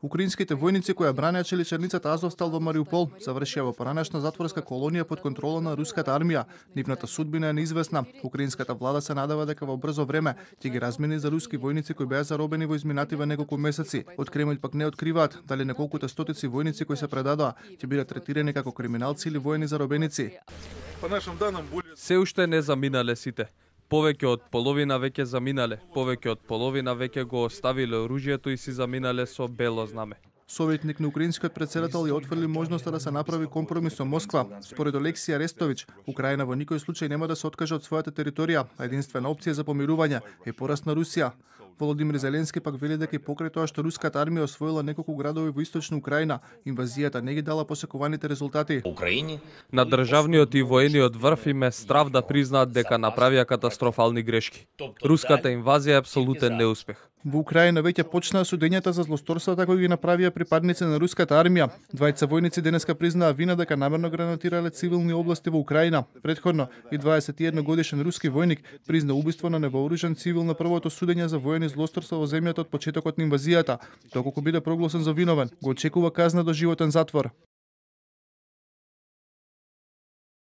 Украинските војници кои ја бранеа челичарницата Азовстал во Мариупол завршија во поранешна затворска колонија под контрола на руската армија. Нивната судбина е неизвестна. Украинската влада се надева дека во брзо време ќе ги размени за руски војници кои беа заробени во изминативе неколку месеци. Од Кремљ пак не откриваат дали неколкуте стотици војници кои се предадоа ќе бидат третирани како криминалци или воени заробеници. Се уште не заминале сите. Повеќе од половина веќе заминале, повеќе од половина веќе го оставиле оружјето и си заминале со бело знаме. Советник на украинскиот претседател ја отфрли можноста да се направи компромис со Москва. Според Олексија Арестовиќ, Украина во никој случај нема да се откаже од својата територија, а единствена опција за помирување е пораст на Русија. Володимир Зеленски пак вели дека и покрај тоа што руската армија освоила неколку градови во источна Украина, инвазијата не ги дала посекуваните резултати. На државниот и воениот врв им е страв да признаат дека направија катастрофални грешки. Руската инвазија е апсолутен неуспех. Во Украина веќе почнаа судењата за злосторствата кои ги направија припадници на руската армија. Двајца војници денеска признаа вина дека намерно гранатирале цивилни области во Украина. Претходно и 21 годишен руски војник призна убиство на невооружен цивил на првото судење за воени злосторства во земјата од почетокот на инвазијата. Доколку биде прогласен за виновен, го очекува казна до животен затвор.